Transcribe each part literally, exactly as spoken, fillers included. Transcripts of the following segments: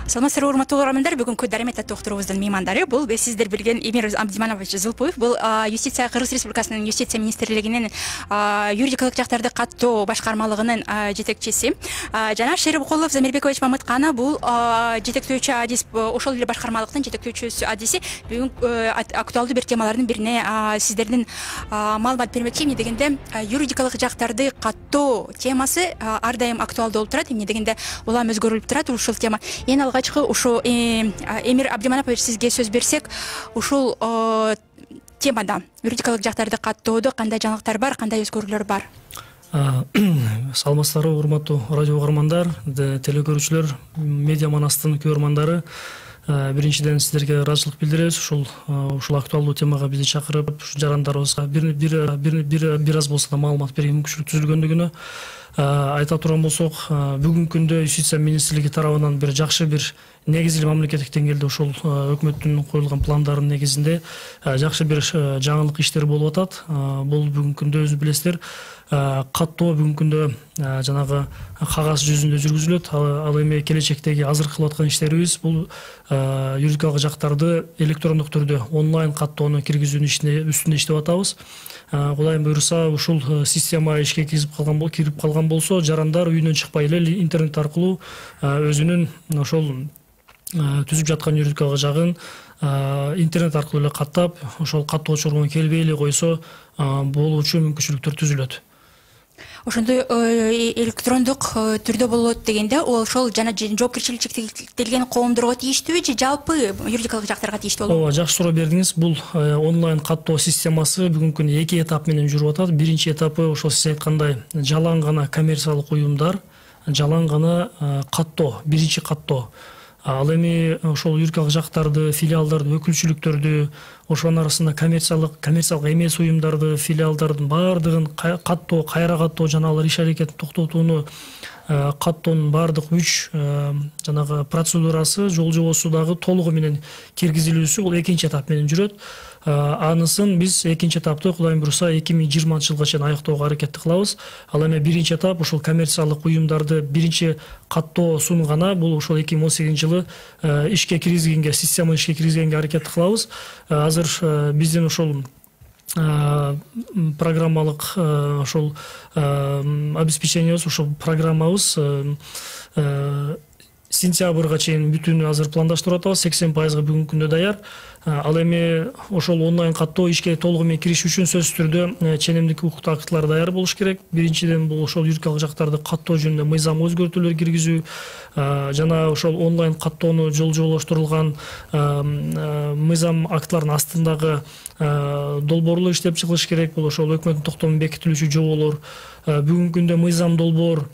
Саламатсыздарбы, урматтуу угармандар. Бүгүнкү Даремет аттуу уктуруубуздун меймандары бул сиздер билген Эмир Абдиманович Зылпуев. Бул юстиция Кыргыз Республикасынын юстиция министрлигинин юридикалык жактарды каттоо башкармалыгынын жетекчиси. Жана Шерибкулов Замирбекович Мамыткана бул жетектөөчү адис, ошол эле башкармалыктын жетектөөчү адиси. Бүгүн актуалдуу бир темалардын бирине сиздердин маалымат бермекчи. Эмне дегенде юридикалык жактарды каттоо темасы ар дайым актуалдуу болуп турат. Эмне дегенде улам өзгөрүлүп турат ушул тема. Эң алгачкы ушу Эмир Абдиманович сизге сөз берсек, ушул темада юридикалык жактарды каттоодо кандай жаңылыктар бар, кандай өзгөрүүлөр бар? Саламатсыздарбы, урматтуу радио угармандар, телекөрүүчүлөр, медиа манастын көрөрмандары. Биринчиден сиздерге ыраазычылык билдиребиз. Ушул ушул актуалдуу темага бизди чакырып, жарандарыбызга бир бир бир бир аз болсо да маалымат берүүгө мүмкүнчүлүк түзүлгөндүгүнө айта турган болсок, бүгүнкү күндө юстиция министрлиги тарабынан бир жакшы бир негизги мамлекеттик деңгээлде ушул өкмөттүн коюлган пландардын негизинде жакшы бир жаңылык иштер болуп атат. Бул бүгүнкү күндө өзү билесиздер, каттоо бүгүнкү күндө жанагы кагаз жүзүндө жүргүзүлөт. Ал эми келечектеги азыр кылып аткан иштерибиз бул юридикалык жактарды электрондук түрдө онлайн каттоону киргизүүнүн үстүндө иштеп атабыз. Кудайым буйруса, ушул система ишке кирип калган бол, кирип калган болсо, жарандар үйүнөн чыкпай эле интернет аркылуу өзүнүн ошол түзүп жаткан юридикалык жагын интернет аркылуу эле каттап, ошол каттоочуларга келбей эле койсо болуучу мүмкүнчүлүктөр түзүлөт. Ошондой электрондук түрдө болот дегенде, ошол жана жоопкерчилик чектелген коомдорго тийиштүүбү же жалпы юридикалык жактарга тийиштүү болобу? Ооба, жакшы суроо бердиңиз. Бул онлайн каттоо системасы бүгүнкү күндө эки этап менен жүрүп атат. Биринчи этапы ошол сиз айткандай жалаң гана коммерциялык уюмдар, жалаң гана каттоо, биринчи каттоо. Ал эми ошол юридикалык жактарды, филиалдарды, өкүлчүлүктөрдү, ошонун арасында коммерциялык, коммерциялык эмес уюмдарды, филиалдардын баардыгын каттоо, кайра каттоо жана алар иш аракетин токтотууну каттоонун баардык үч жанагы процедурасы, жол жобосу дагы толугу менен киргизилүүсү бул экинчи этап менен жүрөт. Анысын биз экинчи этапты Кудайым буйруса эки миң жыйырманчы жылга чейин аяктоого аракет кылабыз. Ал эми биринчи этап ушул коммерциялык уюмдарды биринчи каттоосун гана бул ушул эки миң он сегизинчи жылы ишке киргизгенге, система ишке киргизгенге аракет кылабыз. Азыр биздин ушул программалык ошол обеспечениябыз, ушул программабыз сентябрга чейин бүтүүнү азыр пландаштырып атабыз. сексен пайызга бүгүнкү күндө даяр. Ал эми ошол онлайн каттоо ишке толугу менен кириши үчүн сөзсүз түрдө ченемдик укуктук актылар даяр болуш керек. Биринчиден бул ошол юридикалык жактарды каттоо жөнүндө мыйзам өзгөртүүлөр киргизүү жана ошол онлайн каттоону жол жоболоштурулган мыйзам актыларынын астындагы долбоорлор иштеп чыгылыш керек. Бул ошол өкмөттүн токтомун бекитилүүчү жоболор. Бүгүнкү күндө мыйзам долбоор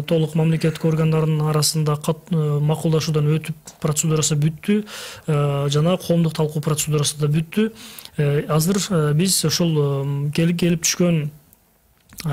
толук мамлекеттик органдардын арасында макулдашуудан өтүп процедурасы бүттү, жана коомдук талкуу процедурасы да бүттү. Азыр биз ошол келип келип түшкөн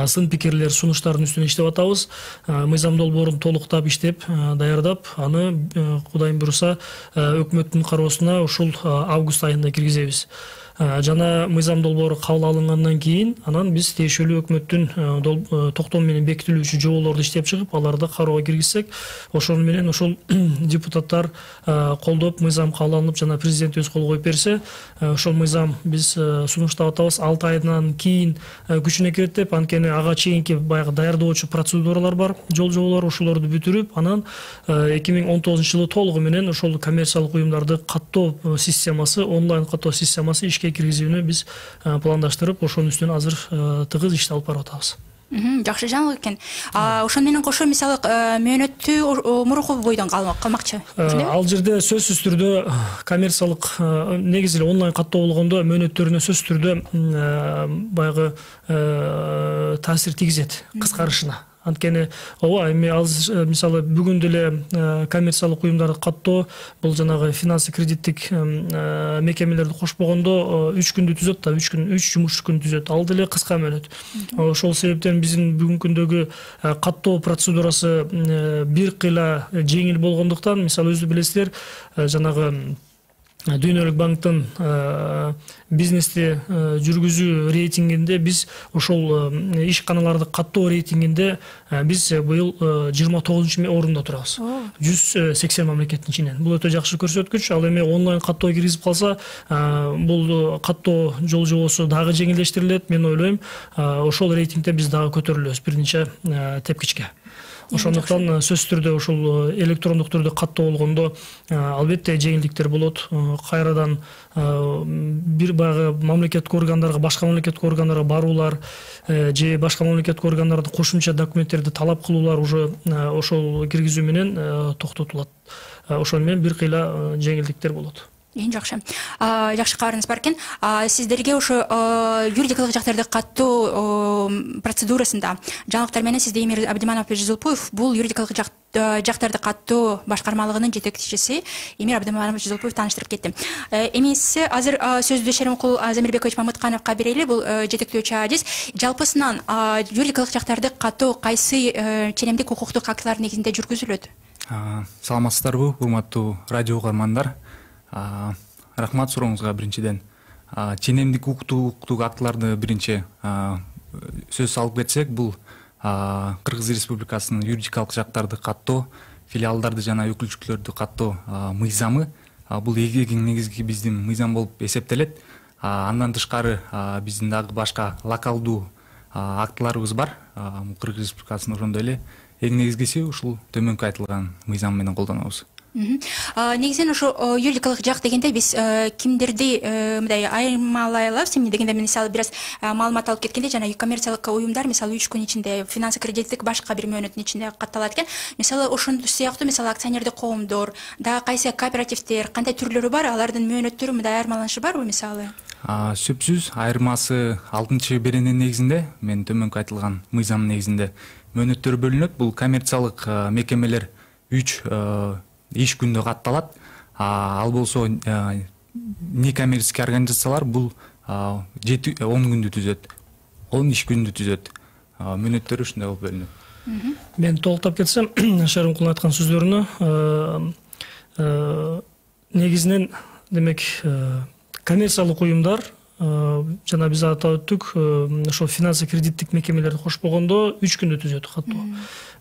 сын пикирлер, сунуштардын үстүнө иштеп атабыз. Мыйзам долбоорун толуктап иштеп, даярдап, аны Кудайым буйруса өкмөттүн кароосуна ушул август айында киргизебиз. Жана мыйзам долбоору кабыл алынгандан кийин анан биз тиешелүү өкмөттүн токтом менен бекитилүүчү жоболорду иштеп чыгып, аларды кароого киргизсек, ошону менен ошол депутаттар колдоп, мыйзам кабыл алынып жана президент өз кол коюп берсе, ошол мыйзам биз сунуштап атабыз. алты айдан кийин күчүнө кирет деп, анткени ага чейинки баягы даярдоочу процедуралар бар, жол жоболор, ошолорду бүтүрүп, анан эки миң он тогузунчу жылы толугу менен ошол коммерциялык уюмдарды каттоо системасы, онлайн каттоо системасы ишке киргизүүнү биз пландаштырып, ошонун үстүнө азыр тыгыз ишти алып барып атабыз. Жакшы жаңылык экен. Ошону менен кошо мисалы мөөнөттү мурунку бойдон калмакчы. Ал жерде сөзсүз түрдө коммерциялык, негизи эле онлайн каттоо болгондо мөөнөттөрүнө сөзсүз түрдө баягы таасир тийгизет, кыскарышына. Анткени ооба, эми азыр мисалы бүгүн деле коммерциялык уюмдарды каттоо бул жанагы финансы кредиттик мекемелерди кошпогондо үч күндү түзөт да, үч күн, үч жумуш күн түзөт. Ал деле кыска мөөнөт. Ошол себептен биздин бүгүнкү күндөгү каттоо процедурасы бир кыйла жеңил болгондуктан, мисалы өзү билесиздер, жанагы Дүйнөлүк банктын бизнести жүргүзүү рейтингинде биз ошол ишканаларды каттоо рейтингинде биз быйыл жыйырма тогузунчу орунда турабыз. жүз сексен мамлекеттин ичинен. Бул өтө жакшы көрсөткүч. Ал эми онлайн каттоо киргизип калса, бул каттоо жол жобосу дагы жеңилдештирилет. Мен ойлойм, ошол рейтингде биз дагы көтөрүлөбүз бир нече тепкичке. Ошондуктан сөзсүз түрдө ушул электрондук түрдө каттоо болгондо албетте жеңилдиктер болот. Кайрадан бир баягы мамлекеттик органдарга, башка мамлекеттик органдарга баруулар же башка мамлекеттик органдарда кошумча документтерди талап кылуулар уже ошол киргизүү менен токтотулат. Ошону менен бир кыйла жеңилдиктер болот. Эң жакшы. Жакшы кабарыңыз бар экен. Сиздерге ошо юридикалык жактарды каттоо процедурасында жаңылыктар менен сизде Эмир Абдиманов Жизылпуев бул юридикалык жактарды каттоо башкармалыгынын жетекчиси Эмир Абдиманов Жизылпуев тааныштырып кетти. Эми сиз азыр сөздү Шеримкул Замирбекович Мамыткановго берели. Бул жетектөөчү адис. Жалпысынан юридикалык жактарды каттоо кайсы ченемдик укуктук актылар негизинде жүргүзүлөт? Саламатсыздарбы, урматтуу радио угармандар. Рахмат сурооңузга биринчиден. Ченемдик укуктук актыларды биринчи сөз салып кетсек, бул Кыргыз Республикасынын юридикалык жактарды каттоо, филиалдарды жана өкүлчүлүктөрдү каттоо мыйзамы. Бул эң негизги биздин мыйзам болуп эсептелет. Андан тышкары биздин дагы башка локалдуу актыларыбыз бар. Кыргыз Республикасынын ошондой эле эң негизгиси ушул төмөнкү айтылган мыйзам менен колдонобуз. Негизинен ошо юридикалык жак дегенде биз кимдерди мындай айырмалай алабыз эмне дегенде, мисалы бир аз маалымат алып кеткенде жана коммерциялык уюмдар мисалы үч күн ичинде, финансы кредиттик башка бир мөөнөттүн ичинде катталат экен. Мисалы ошондой сыяктуу мисалы акционердик коомдор, дагы кайсы кооперативдер, кандай түрлөрү бар, алардын мөөнөттөрү мындай айырмаланышы барбы мисалы? Сөзсүз айырмасы алтынчы берененин негизинде, мен төмөнкү айтылган мыйзамдын негизинде мөөнөттөр бөлүнөт. Бул коммерциялык мекемелер үч иш күндө катталат. Ал болсо некоммерческий организациялар бул жети он күндү түзөт. он иш күндү түзөт. Мөөнөттөр ушундай болуп бөлүнөт. Мен толуктап кетсем, Шеримкулдун айткан сөздөрүнө негизинен демек коммерциялык уюмдар жана биз атап өттүк, ошол финансы кредиттик мекемелерди кошпогондо үч күндө түзөт каттоо.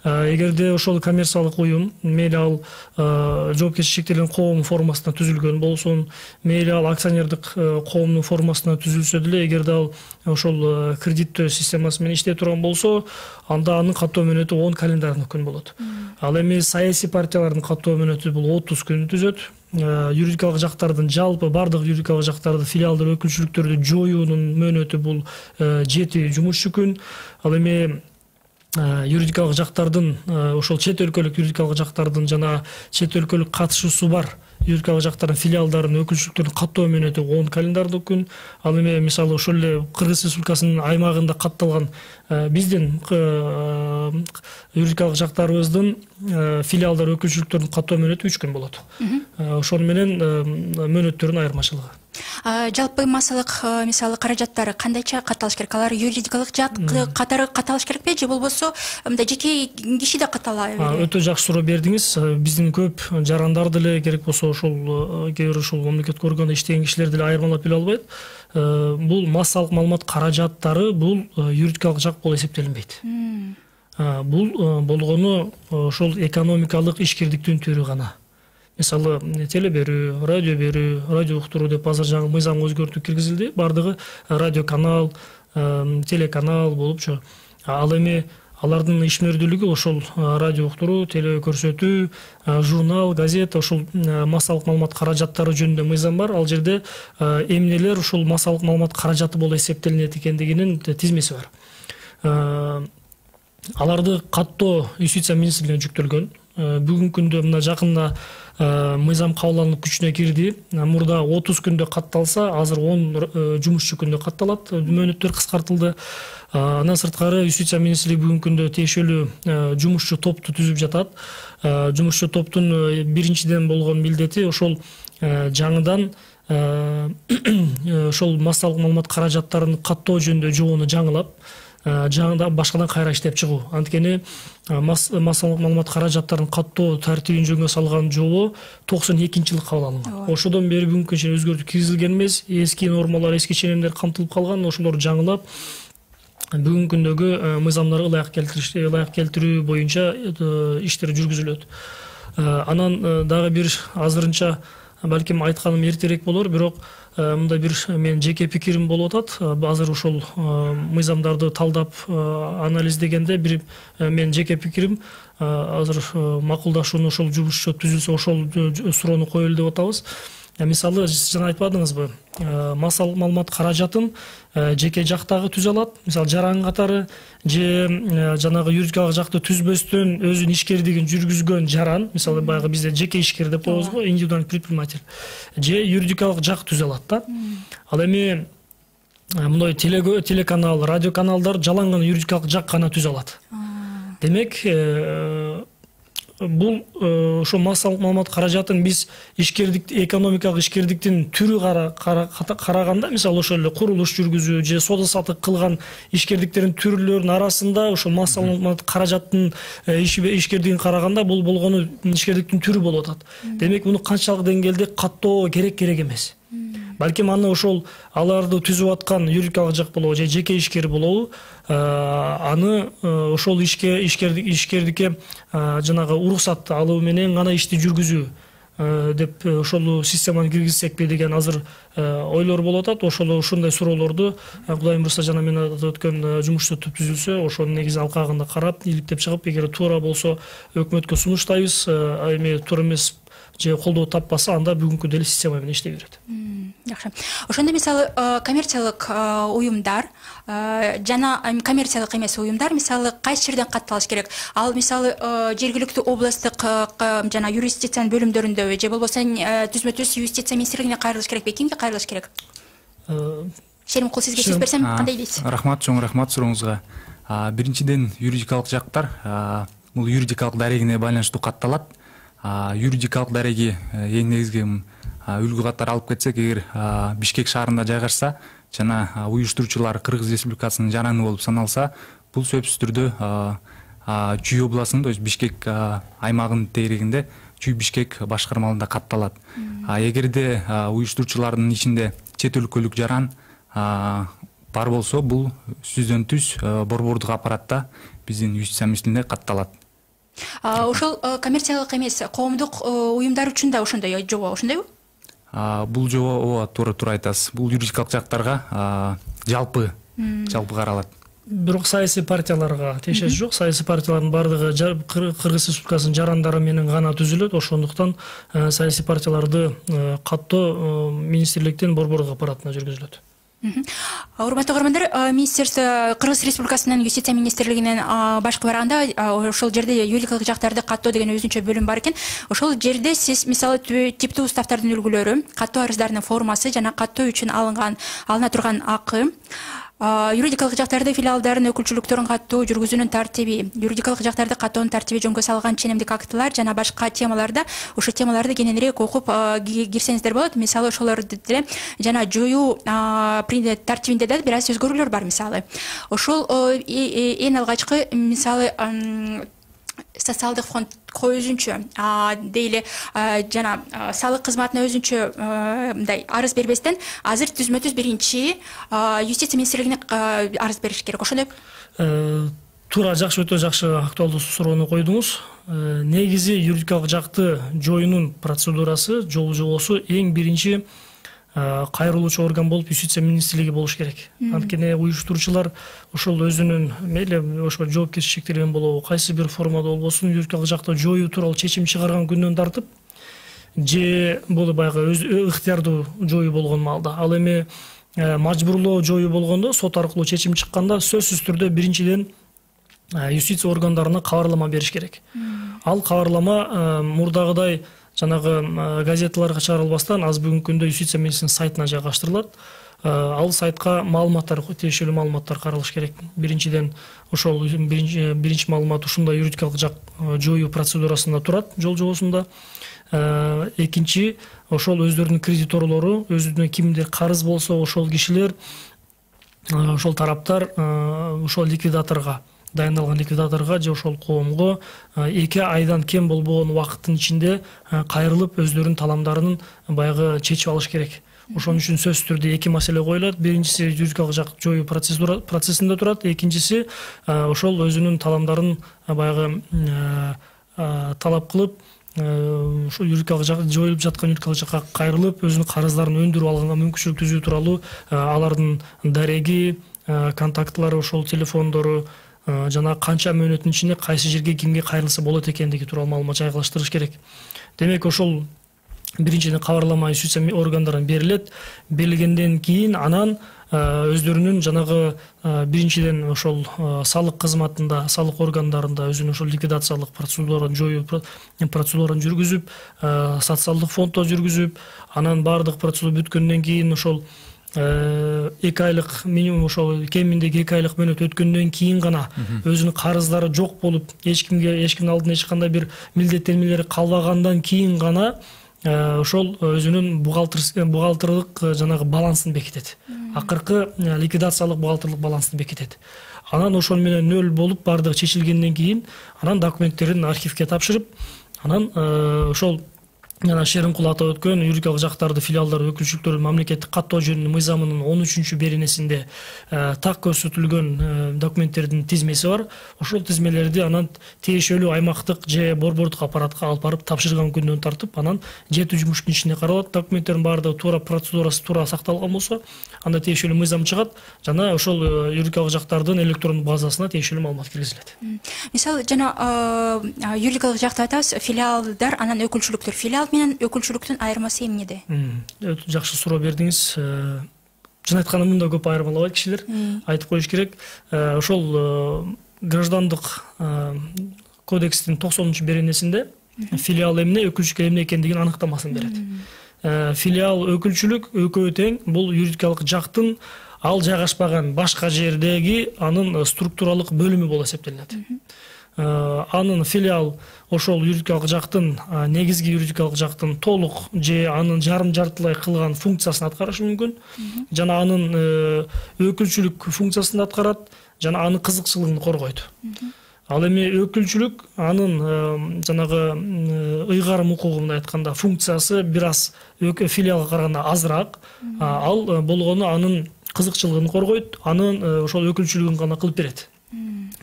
Эгерде ошол коммерциялык уюм мейли ал жоопкерчиликти шектелген коом формасында түзүлгөн болсун, мейли ал акционердик коомдун формасында түзүлсө деле, эгерде ал ошол кредиттөө системасы менен иштей турган болсо, анда анын каттоо мөөнөтү он календарный күн болот. Ал эми саясий партиялардын каттоо мөөнөтү бул отуз күндү түзөт. Юридикалык жактардын жалпы бардык юридикалык жактарды, филиалдар, өкүлчүлүктөрдү жоюунун мөөнөтү бул жети жумушчу күн. Ал эми юридикалык жактардын, ошол чет өлкөлүк юридикалык жактардын жана чет өлкөлүк катышуусу бар юридикалык жактардын филиалдарын, өкүлчүлүктөрүн каттоо мөөнөтү он календардык күн. Ал эми мисалы ошол эле Кыргыз Республикасынын аймагында катталган биздин юридикалык жактарыбыздын филиалдар, өкүлчүлүктөрүнүн каттоо мөөнөтү үч күн болот. Ошону менен мөөнөттөрүнүн айырмачылыгы. Жалпы массалык мисалы каражаттары кандайча катталыш керек? Алар юридикалык жак катары катталыш керекпи же болбосо мындай жеке киши да катталабы? Өтө жакшы суроо бердиңиз. Биздин көп жарандар деле керек болсо ошол кээ бир ушул мамлекеттик органда иштеген кишилер деле айырмалап биле албайт. Бул массалык маалымат каражаттары бул юридикалык жак болуп эсептелинбейт. Бул болгону ошол экономикалык ишкердиктин түрү гана. Мисалы теле берүү, радио берүү, радио уктуруу деп азыр жаңы мыйзамга өзгөртүү киргизилди. Бардыгы радио канал, телеканал болупчу. Ал эми алардын ишмердүүлүгү ошол радио уктуруу, теле көрсөтүү, журнал, газета, ошол массалык маалымат каражаттары жөнүндө мыйзам бар. Ал жерде эмнелер ушул массалык маалымат каражаты болуп эсептелинет экендигинин тизмеси бар. Аларды каттоо юстиция министрлигине жүктөлгөн. Бүгүнкү күндө мына жакында мыйзам кабыл алынып күчүнө кирди. Мурда отуз күндө катталса, азыр он жумушчу күндө катталат. Мөөнөттөр кыскартылды. Андан сырткары юстиция министрлиги бүгүнкү күндө тиешелүү жумушчу топту түзүп жатат. Жумушчу топтун биринчиден болгон милдети ошол жаңыдан ошол массалык маалымат каражаттарын каттоо жөнүндө жобону жаңылап, жаңыдан башкадан кайра иштеп чыгуу. Анткени массалык маалымат каражаттарын каттоо тартибин жөнгө салган жобо токсон экинчи жылы кабыл алынган. Ошодон бери бүгүнкү чейин өзгөртүү киргизилген эмес, эски нормалар, эски ченемдер камтылып калган, ошолорду жаңылап бүгүнкү күндөгү мыйзамдарга ылайык келтириш, ылайык келтирүү боюнча иштер жүргүзүлөт. Анан дагы бир азырынча балким айтканым эртерээк болор, бирок мындай бир менин жеке пикирим болуп атат. Азыр ошол мыйзамдарды талдап анализдегенде бир менин жеке пикирим азыр макулдашууну ошол жумушчу түзүлсө ошол суроону коелу деп атабыз. Мисалы жана айтпадыңызбы, массалык маалымат каражатын жеке жактагы түзө алат, мисалы жаран катары же жанагы юридикалык жакты түзбөстөн өзүнүн ишкердигин жүргүзгөн жаран, мисалы баягы бизде жеке ишкер деп коебуз го, индивидуальный предприниматель, же юридикалык жак түзө алат да. Ал эми мындай телеканал, радиоканалдар жалаң гана юридикалык жак гана түзө алат. Демек, бул ошо массалык маалымат каражатын биз ишкердик, экономикалык ишкердиктин түрү караганда, мисалы ошол эле курулуш жүргүзүү же соода саттык кылган ишкердиктердин түрлөрүнүн арасында ошол массалык маалымат каражаттын ишкердигин караганда бул болгону ишкердиктин түрү болуп атат. Демек, муну канчалык деңгээлде каттоо керек керек эмес. Балким аны ошол аларды түзүп аткан юридикалык жак болобу же жеке ишкер болобу, аны ошол ишке ишкердикке жанагы уруксат алуу менен гана ишти жүргүзүү деп ошол системаны киргизсекпи деген азыр ойлор болуп атат. Ошол ушундай суроолорду Кудайым буйрса жана мен өткөн жумуш топ түзүлсө, ошонун негизи алкагында карап, иликтеп чыгып, эгер туура болсо өкмөткө сунуштайбыз, эми туура эмес же колдоо таппаса, анда бүгүнкү деле система менен иштей берет. Жакшы. Ошондо мисалы коммерциялык уюмдар жана коммерциялык эмес уюмдар мисалы кайсы жерден катталыш керек? Ал мисалы жергиликтүү областтык жана юрисдикциянын бөлүмдөрүндөбү же болбосо түзмө-түз юстиция министрлигине кайрылыш керекпи? Кимге кайрылыш керек? Шеримкул, сизге сөз берсем, кандай дейсиз? Рахмат, чоң рахмат сурооңузга. Биринчиден, юридикалык жактар бул юридикалык дарегине байланыштуу катталат. Юридикалык дареги эң негизги үлгү катары алып кетсек, эгер Бишкек шаарында жайгашса жана уюштуруучулар Кыргыз Республикасынын жараны болуп саналса, бул сөзсүз түрдө Чүй областынын, то есть Бишкек аймагынын тегерегинде Чүй Бишкек башкармалыгында катталат. Эгерде уюштуруучулардын ичинде чет өлкөлүк жаран бар болсо, бул сөздөн түз борбордук аппаратта биздин юстиция министрлигине катталат. Ошол коммерциялык эмес коомдук уюмдар үчүн да ошондой жобо, ошондойбу? Бул жобо ооба туура туура айтасыз. Бул юридикалык жактарга жалпы жалпы каралат. Бирок саясий партияларга тиешеси жок. Саясий партиялардын бардыгы Кыргыз Республикасынын жарандары менен гана түзүлөт. Ошондуктан саясий партияларды каттоо министрликтин борбордук аппаратына жүргүзүлөт. Урматтуу көрөрмандар, Министерство Кыргыз Республикасынын юстиция министрлигинин башкы барагында ошол жерде юридикалык жактарды каттоо деген өзүнчө бөлүм бар экен. Ошол жерде сиз мисалы типтүү уставтардын үлгүлөрү, каттоо арыздарынын формасы жана каттоо үчүн алынган алына турган акы, юридикалык жактарды филиалдардын өкүлчүлүктөрүн каттоо жүргүзүүнүн тартиби, юридикалык жактарды каттоонун тартиби жөнгө салган ченемдик актылар жана башка темаларда ошо темаларды кененирээк окуп кирсеңиздер болот. Мисалы ошолорду деле жана жоюу тартибинде да бир аз өзгөрүүлөр бар. Мисалы ошол эң алгачкы мисалы социалдык фондко өзүнчө дейли жана салык кызматына өзүнчө мындай арыз бербестен азыр түзмө-түз биринчи юстиция министрлигине арыз бериш керек. Ошондой туура, жакшы, өтө жакшы актуалдуу суроону койдуңуз. Негизи юридикалык жакты жоюунун процедурасы, жол жобосу эң биринчи кайрылуучу орган болуп юстиция министрлиги болуш керек. Анткени уюштуруучулар ошол өзүнүн мейли ошо жоопкерчиликтери менен болобу, кайсы бир формада болбосун юридикалык жакты жоюу тууралуу чечим чыгарган күндөн тартып, же бул баягы өз ыктыярдуу жоюу болгон маалда. Ал эми мажбурлоо жоюу болгондо, сот аркылуу чечим чыкканда сөзсүз түрдө биринчиден юстиция органдарына кабарлама бериш керек. Ал кабарлама мурдагыдай жанагы газеталарга чыгарылбастан аз бүгүнкү күндө юстиция министринин сайтына жайгаштырылат. Ал сайтка маалыматтар, тиешелүү маалыматтар каралыш керек. Биринчиден ошол биринчи биринчи маалымат ушундай юридикалык жак жоюу процедурасында турат, жол жобосунда. Экинчи, ошол өздөрүнүн кредиторлору, өзүнүн кимдир карыз болсо, ошол кишилер ошол тараптар ошол ликвидаторго дайындалган ликвидаторго же ошол коомго эки айдан кем болбогон убакыттын ичинде кайрылып өздөрүнүн таламдарын баягы чечип алыш керек. Ошон үчүн сөзсүз түрдө эки маселе коюлат. Биринчиси юридикалык жак жоюу процессинде турат. Экинчиси ошол өзүнүн таламдарын баягы талап кылып, ошол юридикалык жак жоюлуп жаткан юридикалык жакка кайрылып, өзүнүн карыздарын өндүрүп алганга мүмкүнчүлүк түзүү тууралуу алардын дареги, контактылары, ошол телефондору жана канча мөөнөттүн ичинде кайсы жерге кимге кайрылса болот экендиги тууралуу маалымат жайгалыштырыш керек. Демек ошол биринчиден кабарлама юстиция органдарына берилет. Берилгенден кийин анан өздөрүнүн жанагы биринчиден ошол салык кызматында, салык органдарында өзүнүн ошол ликвидациялык процедураны жоюу процедураны жүргүзүп, социалдык фонддо жүргүзүп, анан баардык процедура бүткөндөн кийин ошол эки айлык минимум ошол кеминде эки айлык мөөнөт өткөндөн кийин гана өзүнүн карыздары жок болуп, эч кимге эч кимдин алдында эч кандай бир милдеттенмелери калбагандан кийин гана ошол өзүнүн бухгалтерлык жанагы балансын бекитет. Акыркы ликвидациялык бухгалтерлык балансын бекитет. Анан ошол менен нөл болуп баардыгы чечилгенден кийин анан документтерин архивге тапшырып, анан ошол жана Шеримкул атап өткөн юридикалык жактарды филиалдар өкүлчүлүктөрүн мамлекеттик каттоо жөнүндө мыйзамынын он үчүнчү беренесинде так көрсөтүлгөн документтердин тизмеси бар. Ошол тизмелерди анан тиешелүү аймактык же борбордук аппаратка алып барып тапшырган күндөн тартып, анан жети жумуш күн ичинде каралат. Документтердин баардыгы туура процедурасы туура сакталган болсо, анда тиешелүү мыйзам чыгат, жана ошол юридикалык жактардын электрондук базасына тиешелүү маалымат киргизилет. Мисалы, жана юридикалык жакта айтабыз, филиалдар анан өкүлчүлүктөр. Филиал менен өкүлчүлүктүн айырмасы эмнеде? Өтө жакшы суроо бердиңиз. Чын айтканда мында көп айырмалабайт кишилер. Айтып коюш керек. Ошол граждандык кодекстин токсонунчу беренесинде филиал эмне, өкүлчүлүк эмне экендигин аныктамасын берет. Филиал, өкүлчүлүк экөө тең. Бул юридикалык жактын ал жайгашпаган башка жердеги анын структуралык бөлүмү болуп эсептелинет. Анын филиал ошол юридикалык жактын негизги юридикалык жактын толук же анын жарым жартылай кылган функциясын аткарышы мүмкүн, жана анын өкүлчүлүк функциясын аткарат, жана анын кызыкчылыгын коргойт. Ал эми өкүлчүлүк анын жанагы ыйгарым укугу мындай айтканда функциясы бир аз филиалга караганда азыраак, ал болгону анын кызыкчылыгын коргойт, анын ошол өкүлчүлүгүн гана кылып берет.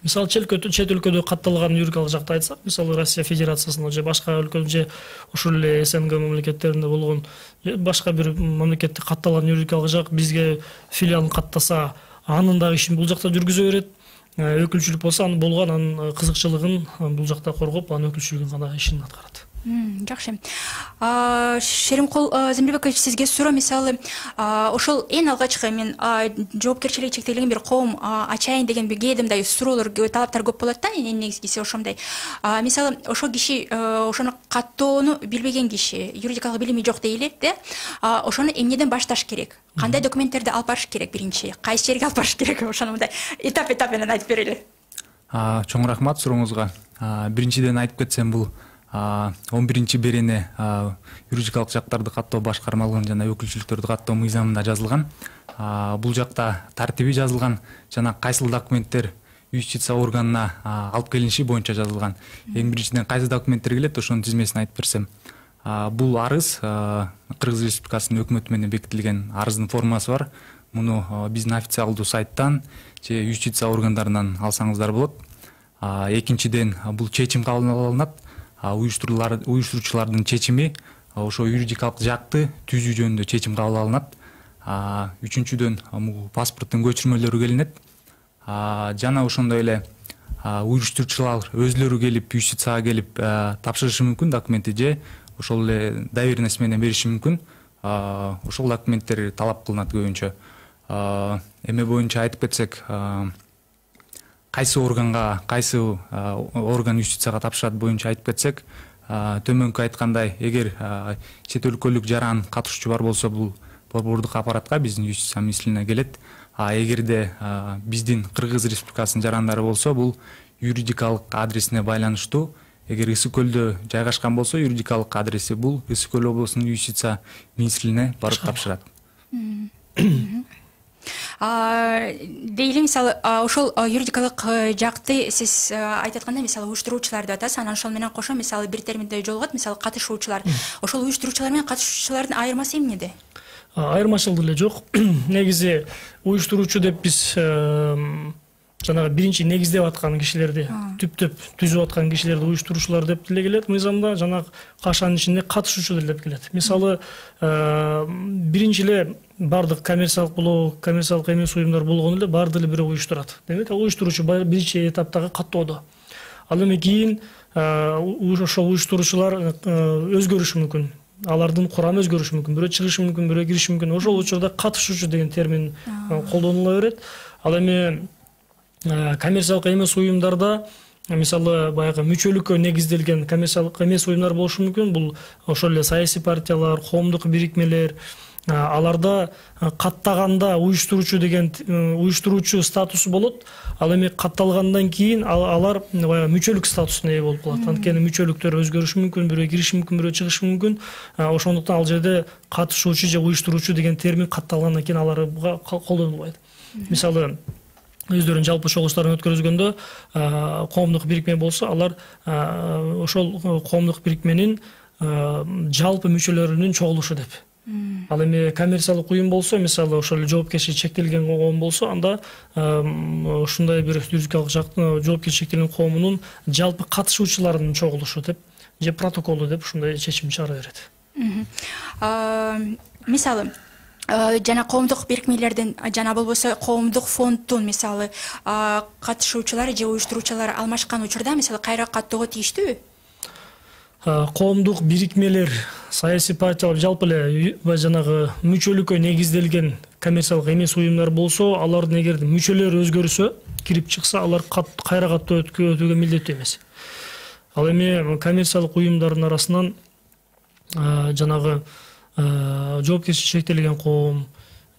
Мисалы, чет өлкөдө катталган юридикалык жакты айтсак, мисалы Россия Федерациясында же башка өлкөдө же ошол эле СНГ мамлекеттеринде болгон башка бир мамлекетте катталган юридикалык жак бизге филиалын каттаса, анын дагы ишин бул жакта жүргүзө берет. Өкүлчүлүк болсо анын болгон анын кызыкчылыгын бул жакта коргоп, анын өкүлчүлүгүн гана ишин аткарат. Жакшы. Шеримкул Землебекович, сизге суроо. Мисалы, ошол эң алгачкы мен жоопкерчилиги чектелген бир коом ачайын деген бир кээде мындай суроолор, талаптар көп болот да, эң негизгиси ошондой. Мисалы, ошол киши, ошону каттоону билбеген киши, юридикалык билими жок дейли, да? Ошону эмнеден башташ керек? Кандай документтерди алып барыш керек биринчи? Кайсы жерге алып барыш керек? Ошону мындай этап-этап менен айтып берели. Чоң рахмат сурооңузга. Биринчиден айтып кетсем, бул он биринчи берене юридикалык жактарды каттоо башкармалыгын жана өкүлчүлүктөрдү каттоо мыйзамында жазылган. Бул жакта тартиби жазылган жана кайсыл документтер юстиция органына алып келиниши боюнча жазылган. Эң биринчиден кайсы документтер келет, ошонун тизмесин айтып берсем. Бул арыз Кыргыз Республикасынын өкмөтү менен бекитилген арыздын формасы бар. Муну биздин официалдуу сайттан же юстиция органдарынан алсаңыздар болот. Экинчиден, бул чечим кабыл алынат. Уюштуруучулардын чечими ошо юридикалык жакты түзүү жөнүндө чечим кабыл алынат. Үчүнчүдөн, паспорттун көчүрмөлөрү келинет. Жана ошондой эле уюштуруучулар өзлөрү келип, юстицияга келип тапшырышы мүмкүн документти же ошол эле доверенность менен бериши мүмкүн. Ошол документтер талап кылынат көбүнчө. Эме боюнча айтып кетсек, кайсы органга, кайсы орган юстицияга тапшырат боюнча айтып кетсек, төмөнкү айткандай, эгер чет өлкөлүк жаран катышуучу бар болсо, бул борбордук аппаратка, биздин юстиция министрлигине келет. А эгерде биздин Кыргыз Республикасынын жарандары болсо, бул юридикалык адресине байланыштуу. Эгер Ысык көлдө жайгашкан болсо, юридикалык адреси бул Ысык көл облусунун юстиция министрлигине барып тапшырат. дейли мисалы ошол юридикалык жакты сиз айтып аткандай мисалы уюштуруучулар деп атасыз, анан ошол менен кошо мисалы бир терминде жолугат мисалы катышуучулар. Ошол уюштуруучулар менен катышуучулардын айырмасы эмнеде? Айырмачылык эле жок. Негизи уюштуруучу деп биз жанагы биринчи негиздеп аткан кишилерди, түптөп түзүп аткан кишилерди уюштуруучулар деп деле келет. Мыйзамда жанагы кашанын ичинде катышуучу деп келет. Мисалы, биринчи эле бардык коммерциялык болобу, коммерциялык эмес уюмдар болгону эле баары деле бирөө уюштурат. Демек, ал уюштуруучу биринчи этаптагы каттоодо. Ал эми кийин ошол уюштуруучулар өзгөрүшү мүмкүн. Алардын курамы өзгөрүшү мүмкүн. Бирөө чыгышы мүмкүн, бирөө кириши мүмкүн. Ошол учурда катышуучу деген термин колдонула берет. Ал эми коммерциялык эмес уюмдарда мисалы баягы мүчөлүккө негизделген коммерциялык эмес уюмдар болушу мүмкүн. Бул ошол эле саясий партиялар, коомдук бирикмелер, аларда каттаганда уюштуруучу деген уюштуруучу статусу болот. Ал эми катталгандан кийин алар баягы мүчөлүк статусуна ээ болуп калат. Анткени мүчөлүктөр өзгөрүшү мүмкүн, бирөө кириши мүмкүн, бирөө чыгышы мүмкүн. Ошондуктан ал жерде катышуучу же уюштуруучу деген термин катталгандан кийин аларга колдонулбайт. Мисалы, өздөрүнүн жалпы чогулуштарын өткөрүзгөндө коомдук бирикме болсо, алар ошол коомдук бирикменин жалпы мүчөлөрүнүн чогулушу деп. Ал эми коммерциялык уюм болсо, мисалы ошол жоопкерчилиги чектелген коом болсо, анда ушундай бир юридикалык жоопкерчилиги чектелген коомунун жалпы катышуучуларынын чогулушу деп же протоколу деп ушундай чечим чыгара берет. Мисалы, жана коомдук бирикмелердин жана болбосо коомдук фонддун мисалы катышуучулары же уюштуруучулары алмашкан учурда мисалы кайра каттоого тийиштүүбү? Коомдук бирикмелер, саясий партиялар, жалпы эле жанагы мүчөлүккө негизделген коммерциялык эмес уюмдар болсо, алардын эгер мүчөлөрү өзгөрсө, кирип чыкса, алар кайра каттоо өтүүгө милдеттүү эмес. Ал эми коммерциялык уюмдардын арасынан жанагы жоопкерчилиги чектелген коом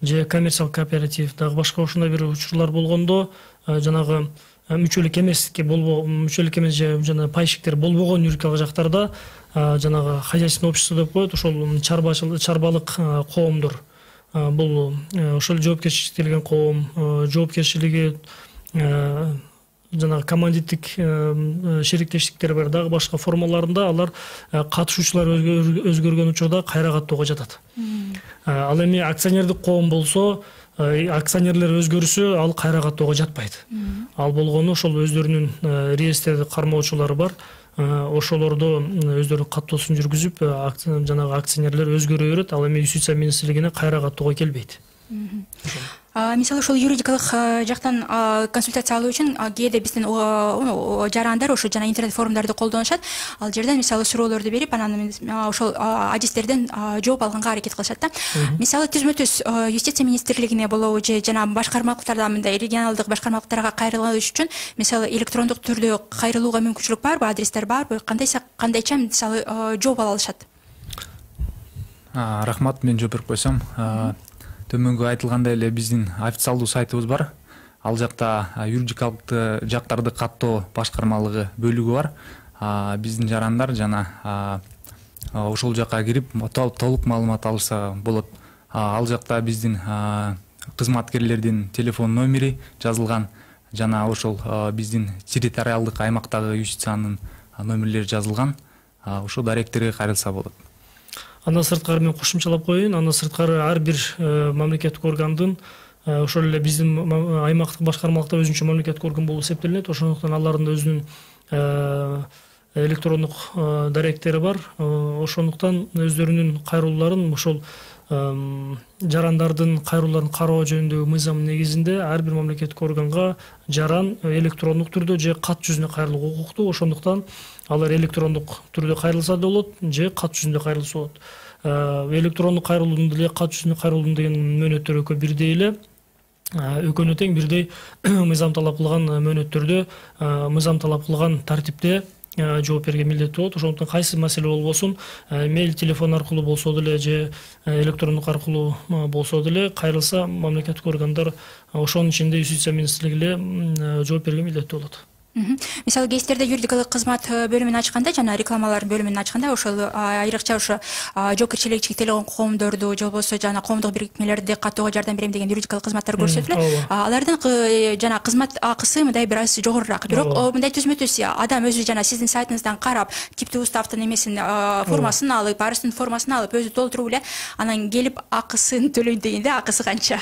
же коммерциялык кооператив, дагы башка ушундай бир учурлар болгондо, жанагы мүчөлүк эмеске болбо мүчөлүк эмес же жана пайщиктер болбогон юридикалык жактарда жанагы хозяйственное общество деп коет, ошол чарбалык коомдор. Бул ошол жоопкерчилиги чектелген коом, жоопкерчилиги жанагы коммандиттик шериктештиктер бар, дагы башка формаларында алар катышуучулар өзгөргөн учурда кайра каттоого жатат. Ал эми акционердик коом болсо, акционерлер өзгөрүсө, ал кайра каттоого жатпайт. Ал болгону ошол өздөрүнүн реестрде кармоочулары бар. Ошолордо өздөрүнүн каттоосун жүргүзүп, жанагы акционерлер өзгөрө берет. Ал эми юстиция министрлигине кайра каттоого келбейт. Мисалы, ошол юридикалык жактан консультация алуу үчүн кээде биздин жарандар ошо жана интернет форумдарды колдонушат. Ал жерден мисалы суроолорду берип, анан ошол адистерден жооп алганга аракет кылышат да. Мисалы, түзмө-түз юстиция министрлигине болобу же жана башкармалыктарда, мындай регионалдык башкармалыктарга кайрылыш үчүн мисалы электрондук түрдө кайрылууга мүмкүнчүлүк барбы, адрестер барбы? Кандайса кандайча мисалы жооп ала алышат? Рахмат, мен жооп берип койсом. Төмөнгө айтылгандай эле биздин официалдуу сайтыбыз бар. Ал жакта юридикалык жактарды каттоо башкармалыгы бөлүгү бар. Биздин жарандар жана ошол жакка кирип толук маалымат алышса болот. Ал жакта биздин кызматкерлердин телефон номери жазылган жана ошол биздин территориалдык аймактагы юстициянын номерлери жазылган. Ошол даректерге кайрылса болот. Андан сырткары мен кошумчалап коеюн, андан сырткары ар бир мамлекеттик органдын ошол эле биздин аймактык башкармалыкта өзүнчө мамлекеттик орган болуп эсептелинет. Ошондуктан алардын өзүнүн электрондук даректери бар. Ошондуктан өздөрүнүн кайрылууларын ошол жарандардын кайрылууларын кароо жөнүндөгү мыйзам негизинде ар бир мамлекеттик органга жаран электрондук түрдө же кат жүзүнө кайрылууга укуктуу. Ошондуктан алар электрондук түрдө кайрылса да болот же кат жүзүндө кайрылса болот. Электрондук кайрылуунун деле кат жүзүндө кайрылуунун деген мөөнөттөрү экөө бирдей эле. Экөөнү тең бирдей мыйзам талап кылган мөөнөттөрдө, мыйзам талап кылган тартипте жооп берүүгө милдеттүү болот. Ошондуктан кайсы маселе болбосун, мейл, телефон аркылуу болсо деле же электрондук аркылуу болсо деле кайрылса, мамлекеттик органдар ошонун ичинде юстиция министрлиги эле жооп берүүгө милдеттүү болот. Мисалы кейстерде юридикалык кызмат бөлүмүн ачканда жана рекламалар бөлүмүн ачканда ошол айрыкча ошо жоопкерчилиги чектелген коомдорду же болбосо жана коомдук бирикмелерди каттоого жардам берем деген юридикалык кызматтар көрсөтүлөт. Алардын жана кызмат акысы мындай бир аз жогорураак. Бирок мындай түзмө түз адам өзү жана сиздин сайтыңыздан карап типтүү уставдын эмесин формасын алып, арыздын формасын алып өзү толтуруп эле анан келип акысын төлөйт дегенде акысы канча?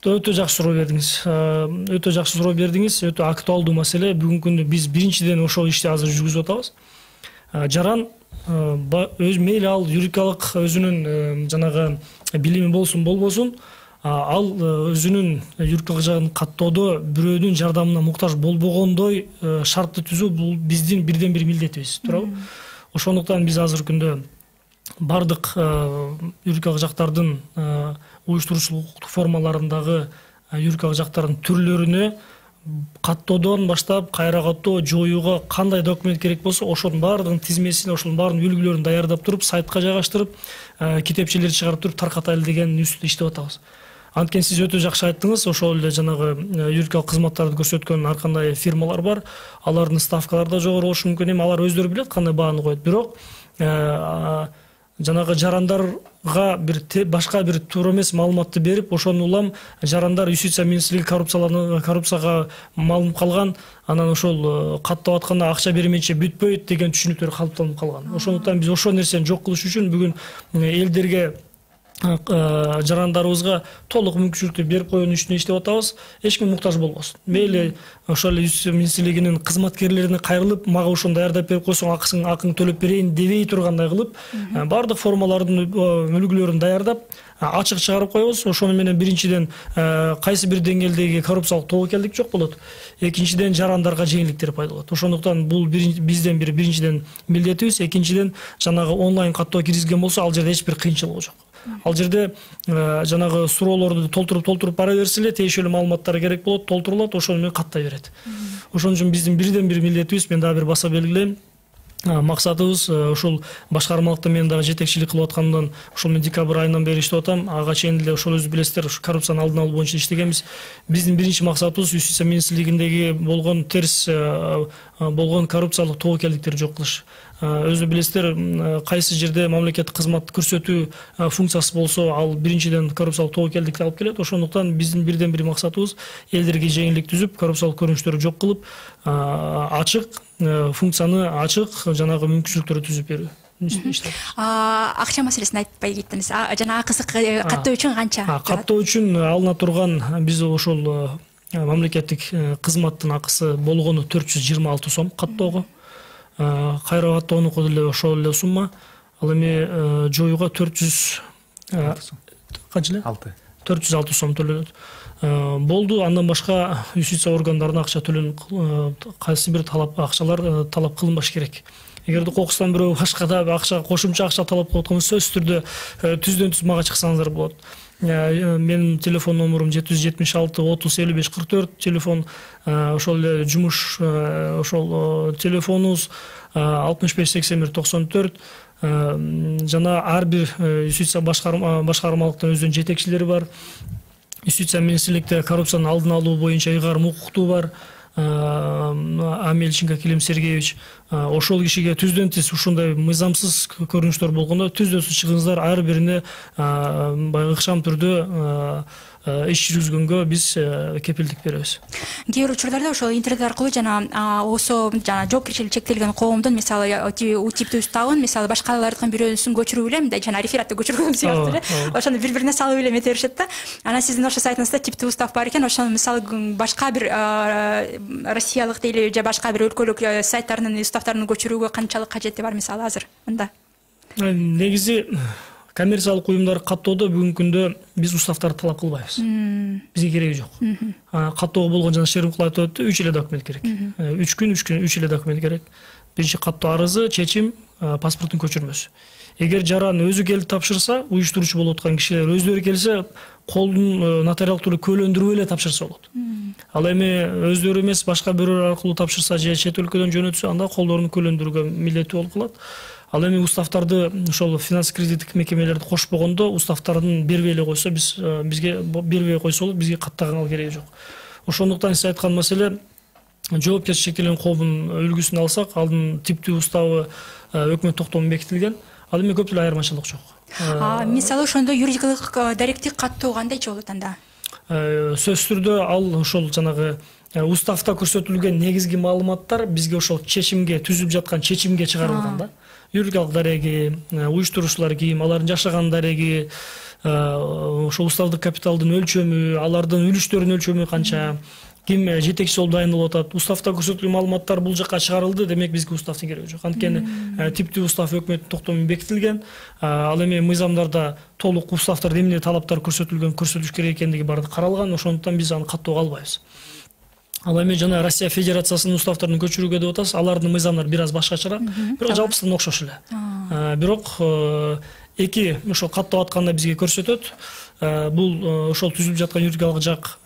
Өтө жакшы суроо бердиңиз. Өтө жакшы суроо бердиңиз. Өтө актуалдуу маселе. Бүгүнкү күндө биз биринчиден ошол ишти азыр жүргүзүп атабыз. Жаран өз мейли ал юридикалык өзүнүн жанагы билими болсун, болбосун, ал өзүнүн юридикалык жагын каттоодо бирөөнүн жардамына муктаж болбогондой шартты түзүү бул биздин бирден бир милдетибиз, туурабы? Ошондуктан биз азыркы күндө бардык юридикалык жактардын уюштуруучулук укуктук формаларындагы юридикалык жактардын түрлөрүнө каттоодон баштап кайра каттоо, жоюуга кандай документ керек болсо ошонун баардыгынын тизмесин, ошонун баардык үлгүлөрүн даярдап туруп, сайтка жайгаштырып, китепчелерди чыгарып туруп таркатайлы деген үстүндө иштеп атабыз. Анткени сиз өтө жакшы айттыңыз, ошол эле жанагы юридикалык кызматтарды көрсөткөн ар кандай фирмалар бар. Алардын ставкалары да жогору болушу мүмкүн. Эми алар өздөрү билет кандай бааны коет. Бирок жанагы жарандарга бир башка бир туура эмес маалыматты берип, ошону улам жарандар юстиция министрлиги коррупцияланып, коррупцияга малынып калган, анан ошол каттап атканда акча бермейинче бүтпөйт деген түшүнүктөр калыптанып калган. Ошондуктан биз ошол нерсени жок кылыш үчүн бүгүн элдерге жарандарыбызга толук мүмкүнчүлүктү берип коюунун үстүнө иштеп атабыз. Эч ким муктаж болбосун. Мейли ошол юстиция министрлигинин кызматкерлерине кайрылып, мага ошону даярдап берип койсоң, акысын акыңды төлөп берейин дебей тургандай кылып, баардык формалардын үлгүлөрүн даярдап, ачык чыгарып коебуз. Ошону менен биринчиден кайсы бир деңгээлдеги коррупциялык тобокелдик жок болот. Экинчиден жарандарга жеңилдиктер пайда болот. Ошондуктан бул бизден бир биринчиден милдетибиз. Экинчиден жанагы онлайн каттоо киргизген болсо, ал жерде эч бир кыйынчылык жок. Ал жерде жанагы суроолорду толтуруп толтуруп бара берсе эле тиешелүү маалыматтар керек болот, толтурулат, ошону менен каттай берет. Ошон үчүн биздин бирден бир милдетибиз, мен дагы бир баса белгилейм, максатыбыз ушул башкармалыкта мен дагы жетекчилик кылып аткандан ушул мен декабрь айынан бери иштеп атам. Ага чейин эле ошол өзү билесиздер, коррупцияны алдын алуу боюнча иштегенбиз. Биздин биринчи максатыбыз юстиция министрлигиндеги болгон терс болгон коррупциялык тобокелдиктерди жок кылыш. Өзү билесиздер, кайсы жерде мамлекеттик кызмат көрсөтүү функциясы болсо, ал биринчиден коррупциялык тобокелдикти алып келет. Ошондуктан биздин бирден бир максатыбыз элдерге жеңилдик түзүп, коррупциялык көрүнүштөрдү жок кылып, ачык функцияны ачык жанагы мүмкүнчүлүктөрдү түзүп берүү. Акча маселесин айтпай кеттиңиз. Жана акысы каттоо үчүн канча? Каттоо үчүн алына турган биз ошол мамлекеттик кызматтын акысы болгону төрт жүз жыйырма алты сом каттоого. Кайра каттоонуку деле ошол эле сумма. Ал эми жоюуга төрт жүз канча эле? төрт жүз алты сом төлөнөт. Болду. Андан башка юстиция органдарына акча төлөнүп, кайсы бир талап акчалар талап кылынбаш керек. Эгерде кокустан бирөө башка да акча, кошумча акча талап кылып аткан болсо, сөзсүз түрдө түздөн түз мага чыксаңыздар болот. Менин телефон номерум жети жүз жетимиш алты отуз элүү беш кырк төрт, телефон ошол эле жумуш ошол телефонубуз алтымыш беш сексен бир токсон төрт. Жана ар бир юстиция башкармалыктын өзүнүн жетекчилери бар. Юстиция министрликте коррупциянын алдын алуу боюнча ыйгарым укуктуу бар. Амельченко Килим Сергеевич, ошол кишиге түздөн түз ушундай мыйзамсыз көрүнүштөр болгондо түздөн түз чыгыңыздар, ар бирине баягы ыкшам түрдө иш жүргүзгөнгө биз кепилдик беребиз. Кээ бир учурларда ошол интернет аркылуу жана осо жана жоопкерчилиги чектелген коомдун, мисалы у типтүү уставын, мисалы башкалардын бирөөсүн көчүрүп эле, мындай жана рефератты көчүргөн сыяктуу эле, ошону бири-бирине салып эле эмете беришет да. Анан сиздин ошол сайтыңызда типтүү устав бар экен, ошону мисалы башка бир россиялык дейли же башка бир өлкөлүк сайттардын уставдарын көчүрүүгө канчалык кажети бар мисалы азыр мында? Негизи коммерциялык уюмдар каттоодо бүгүнкү күндө биз уставдарды талап кылбайбыз. Бизге кереги жок. Каттоого болгон жана Шеримкул айтып өттү, үч эле документ керек. үч күн, үч күн, үч эле документ керек. Биринчи каттоо арызы, чечим, паспорттун көчүрмөсү. Эгер жаран өзү келип тапшырса, уюштуруучу болуп аткан кишилер өздөрү келсе, колдун нотариалдык түрдө көлөндүрүп эле тапшырса болот. Ал эми өздөрү эмес, башка бирөө аркылуу тапшырса же чет өлкөдөн жөнөтсө, анда колдорун көлөндүрүүгө милдеттүү болуп калат. Ал эми уставдарды ошол финанс кредиттик мекемелерди кошпогондо, уставдарын бербей эле койсо, биз бизге бербей койсо болот, бизге каттаганга кереги жок. Ошондуктан сиз айткан маселе жоопкерчилик шектелген коомдун үлгүсүн алсак, алдын типтүү уставы өкмөт токтому бекитилген. Ал эми көп эле айырмачылык жок. Мисалы ошондо юридикалык даректи каттоо кандайча болот анда? Сөзсүз түрдө ал ошол жанагы уставда көрсөтүлгөн негизги маалыматтар бизге ошол чечимге, түзүлүп жаткан чечимге чыгарылган да. Юридикалык дареги, уюштуруучулар ким, алардын жашаган дареги, ошол уставдык капиталдын өлчөмү, алардын үлүштөрүнүн өлчөмү канча, ким жетекчи болуп дайындалып атат. Уставда көрсөтүлгөн маалыматтар бул жакка чыгарылды, демек бизге уставдын кереги жок. Анткени типтүү устав өкмөттүн токтому бекитилген. Ал эми мыйзамдарда толук уставдарда эмне талаптар көрсөтүлгөн, көрсөтүш керек экендиги баары каралган. Ошондуктан биз аны каттоого албайбыз. Ал эми жана Россия Федерациясынын уставдарын көчүрүүгө деп атабыз. Алардын мыйзамдары бир аз башкачараак, бирок жалпысынан окшош эле. Бирок эки ошол каттап атканда бизге көрсөтөт. Бул ошол түзүлүп жаткан юридикалык жак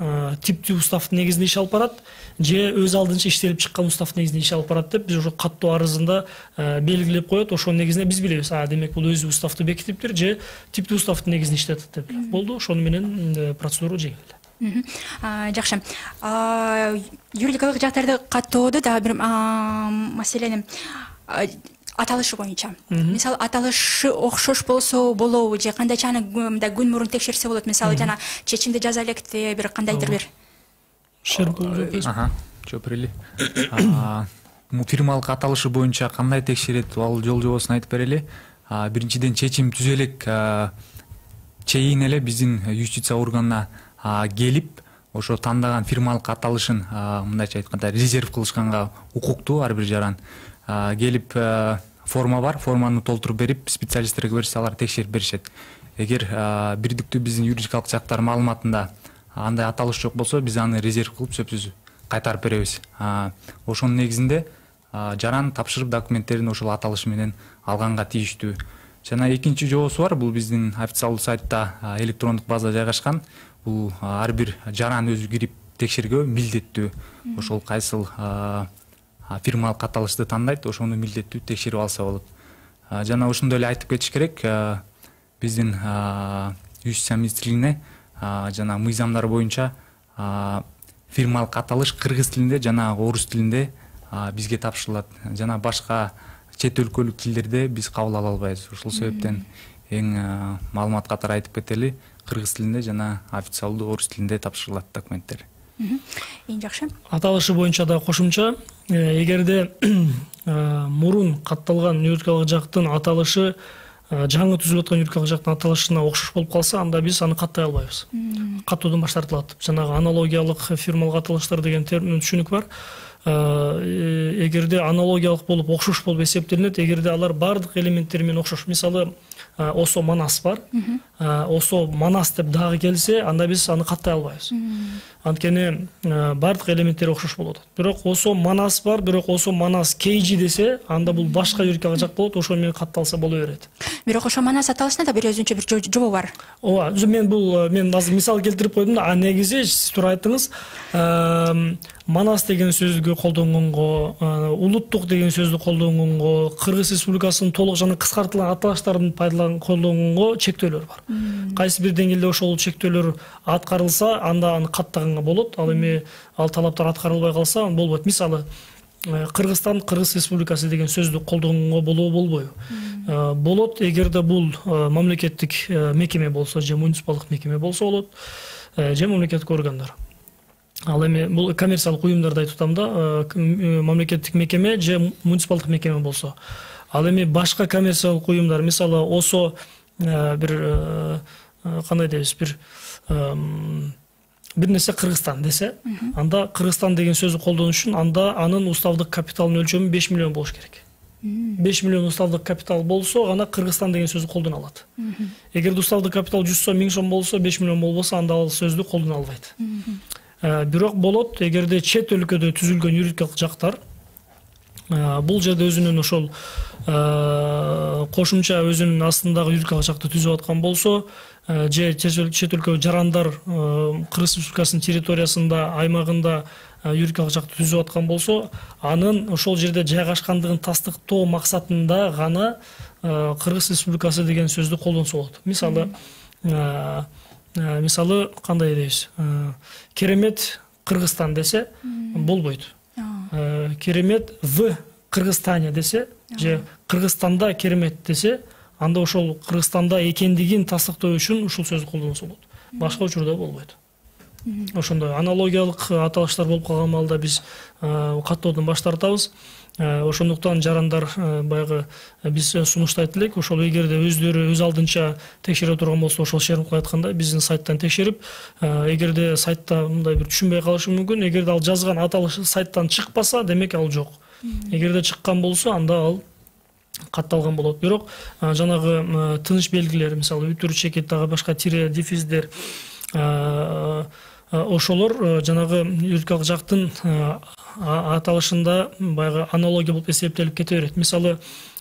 типтүү уставдын негизинде иш алып барат, же өз алдынча иштелип чыккан уставдын негизинде иш алып барат деп биз ошо каттоо арызында белгилеп коет. Ошонун негизинде биз билебиз. А, демек бул өзү уставды бекитиптир, же типтүү уставдын негизинде иштетет деп. Болду, ошону менен процедура жеңил. Жакшы. Юридикалык жактарды каттоодо дагы бир маселени аталышы боюнча. Мисалы, аталышы окшош болсо болобу, же кандайча аны мындай күн мурун текшерсе болот. Мисалы, жана чечимди жаза электе бир кандайдыр бир. Ага, жооп берели. Фирмалык аталышы боюнча кандай текшерет, ал жол жобосун айтып берели. Биринчиден чечим түзө элек чейин эле биздин юстиция органына келип, ошо тандаган фирмалык аталышын мындайча айтканда резерв кылышканга укуктуу ар бир жаран. Келип форма бар, форманы толтуруп берип, специалисттерге берсе алар текшерип беришет. Эгер бирдиктүү биздин юридикалык жактар маалыматында андай аталыш жок болсо, биз аны резерв кылып сөзсүз кайтарып беребиз. Ошонун негизинде жаран тапшырып документтерин ошол аталыш менен алганга тийиштүү. Жана экинчи жобосу бар, бул биздин официалдуу сайтта электрондук база жайгашкан. Бул ар бир жаран өзү кирип текшергөө милдеттүү. Ошол кайсыл фирмалык аталышты тандайт, ошону милдеттүү текшерип алса болот. Жана ошондой эле айтып кетиш керек, биздин юстиция министрлигине жана мыйзамдар боюнча фирмалык аталыш кыргыз тилинде жана орус тилинде бизге тапшырылат. Жана башка чет өлкөлүк тилдерде биз кабыл ала албайбыз. Ошол себептен эң маалымат катары айтып кетели, кыргыз тилинде жана официалдуу орус тилинде тапшырылат документтер. Эң жакшы. Аталышы боюнча да кошумча, эгерде мурун катталган юридикалык жактын аталышы жаңы түзүлүп аткан юридикалык жактын аталышына окшош болуп калса, анда биз аны каттай албайбыз. Каттоодон баш тартылат. Жанагы аналогиялык фирмалык аталыштар деген термин түшүнүк бар. Эгерде аналогиялык болуп, окшош болуп эсептелинет, эгерде алар бардык элементтери менен окшош. Мисалы, осо манас бар. Осо манас деп дагы келсе, анда биз аны каттай албайбыз. Анткени бардык элементтери окшош болот. Бирок осо манас бар, бирок осо манас кейжи десе, анда бул башка юридикалык жак болот, ошо менен катталса боло берет. Бирок ошо манас аталышында да бир өзүнчө бир жобо бар. Ооба, мен бул мен азыр мисал келтирип койдум да, а негизи сиз туура айттыңыз. Манас деген сөздү колдонгонго, улуттук деген сөздү колдонгонго, Кыргыз Республикасынын толук жана кыскартылган аталыштарын пайдаланып колдонгонго чектөөлөр бар. Кайсы бир деңгээлде ошол чектөөлөр аткарылса, анда аны каттаганга болот. Ал эми ал талаптар аткарылбай калса, болбойт. Мисалы, Кыргызстан Кыргыз Республикасы деген сөздү колдонгонго болобу, болбойбу? Болот, эгерде бул мамлекеттик мекеме болсо, же муниципалдык мекеме болсо болот, же мамлекеттик органдар. Ал эми бул коммерциялык уюмдарды айтып атам да, мамлекеттик мекеме же муниципалдык мекеме болсо. Ал эми башка коммерциялык уюмдар, мисалы, осо бир кандай дейбиз, бир бир нерсе Кыргызстан десе, анда Кыргызстан деген сөздү колдонуш үчүн анда анын уставдык капиталынын өлчөмү беш миллион болуш керек. беш миллион уставдык капитал болсо гана Кыргызстан деген сөздү колдоно алат. Эгерде уставдык капитал жүз сом, миң сом болсо, беш миллион болбосо, анда ал сөздү колдоно албайт. Бирок болот, эгерде чет өлкөдө түзүлгөн юридикалык жактар, бул жерде өзүнүн ошол кошумча өзүнүн астындагы юридикалык жакты түзүп аткан болсо, же чет өлкө жарандар Кыргыз Республикасынын территориясында, аймагында юридикалык жакты түзүп аткан болсо, анын ошол жерде жайгашкандыгын тастыктоо максатында гана Кыргыз Республикасы деген сөздү колдонсо болот. Мисалы, мисалы кандай дейбиз? Керемет Кыргызстан десе болбойт. керемет в Кыргызстане десе же Кыргызстанда керемет десе, анда ошол Кыргызстанда экендигин тастыктоо үчүн ушул сөздү колдонсо болот. Башка учурда болбойт. Ошондой аналогиялык аталыштар болуп калган маалда биз каттоодон баш тартабыз. Ошондуктан жарандар баягы биз сунуштайт элек, ошол эгерде өздөрү өз алдынча текшере турган болсо, ошол Шеримкул айткандай биздин сайттан текшерип, эгерде сайтта мындай бир түшүнбөй калышы мүмкүн, эгерде ал жазган аталыш сайттан чыкпаса, демек ал жок. Эгерде чыккан болсо, анда ал катталган болот. Бирок жанагы тыныч белгилер, мисалы үтүр, чекит, дагы башка тире, дефиздер, ошолор жанагы юридикалык жактын аталышында баягы аналогия болуп эсептелип кете берет. Мисалы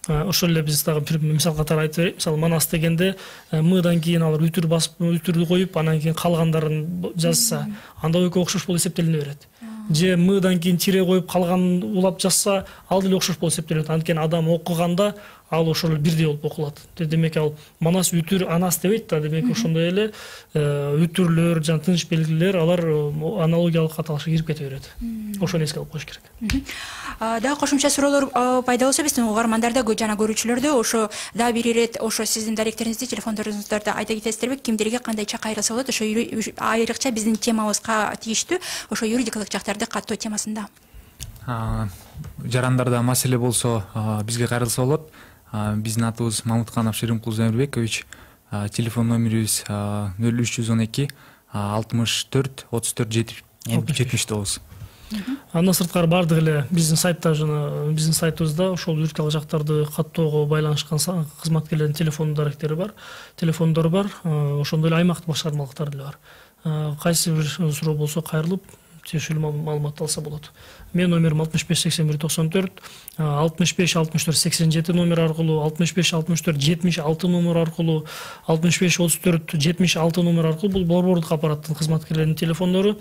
ошол эле биз дагы бир мисал катары айтып берейик. Мисалы манас дегенде мыдан кийин алар үтүр басып, үтүрдү коюп, анан кийин калгандарын жазса, анда экөө окшош болуп эсептелине берет. Же мыдан кийин тире коюп калган улап жазса, ал деле окшош болуп эсептелет. Анткени адам окуганда ал ошол бирдей болуп окулат. Демек ал манас үтүр анас дебейт да, демек ошондой эле үтүрлөр, жана тыныч белгилер, алар аналогиялык аталышка кирип кете берет. Ошону эске алып коюш керек. Дагы кошумча суроолор пайда болсо, биздин угармандарда жана көрүүчүлөрдө ошо дагы бир ирет ошо сиздин даректериңизди, телефондоруңуздарды айта кетесиздерби, кимдерге кандай чак айрылса болот, ошо айрыкча биздин темабызга тийиштүү, ошо юридикалык жактарды каттоо темасында. Жарандарда маселе болсо, бизге кайрылса болот. Биздин атыбыз Мамутканов Шеримкул Замирбекович, телефон номерибиз нөл үч жүз он эки алтымыш төрт отуз төрт жетимиш тогуз. Андан сырткары бардык эле биздин сайтта жана биздин сайтыбызда ошол юридикалык жактарды каттоого байланышкан кызматкерлердин телефон даректери бар, телефондору бар, ошондой эле аймактык башкармалыктар деле бар. Кайсы бир суроо болсо кайрылып тиешелүү маалымат алса болот. Мен номерим алтымыш беш сексен бир токсон төрт, алтымыш беш алтымыш төрт сексен жети номер аркылуу, алтымыш беш алтымыш төрт жетимиш алты номер аркылуу, алтымыш беш отуз төрт жетимиш алты номер аркылуу, бул борбордук аппараттын кызматкерлеринин телефондору.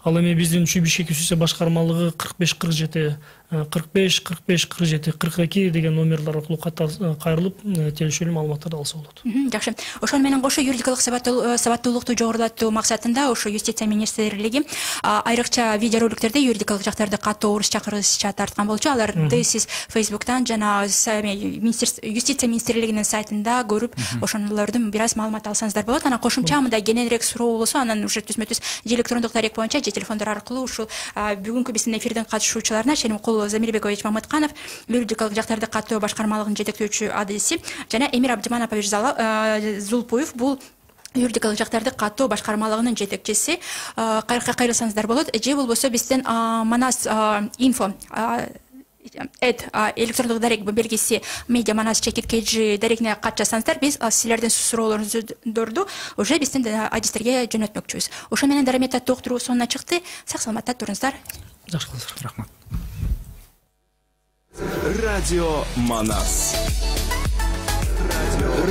Ал эми биздин Чүй Бишкек ЮСИЦ башкармалыгы кырк беш кырк жети кырк беш кырк беш кырк жети кырк эки деген номерлер аркылуу кайрылып тиешелүү маалыматтарды алса болот. Жакшы. Ошол менен кошо юридикалык сабаттуулукту жогорулатуу максатында ошо Юстиция министрлиги айрыкча видеороликтерде юридикалык жактарды каттоо, орусча, кыргызча тарткан болчу. Аларды сиз Facebook'тан жана Юстиция министрлигинин сайтында көрүп, ошолордун бир аз маалымат алсаңыздар болот. Анан кошумча мындай кененирээк суроо болсо, анан уже түзмө-түз электрондук дарек боюнча же телефондор аркылуу ушул бүгүнкү биздин эфирдин катышуучуларына Шеримкул Замирбекович Мамытканов, юридикалык жактарды каттоо башкармалыгынын жетектөөчү адиси, жана Эмир Абдиманович Зулпуев, бул юридикалык жактарды каттоо башкармалыгынын жетекчиси, кайрылсаңыздар болот. Же болбосо биздин Манас инфо эд электрондук дарек белгиси медиа манас чекит kg дарегине кат жазсаңыздар, биз силердин суроолоруңузду уже биздин адистерге жөнөтмөкчүбүз. Ошо менен дарамет аттуу уктуруу сонуна чыкты. Сак саламатта туруңуздар. Жакшы болуңуздар. Рахмат. Радио Манас.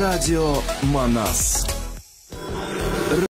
Радио Манас.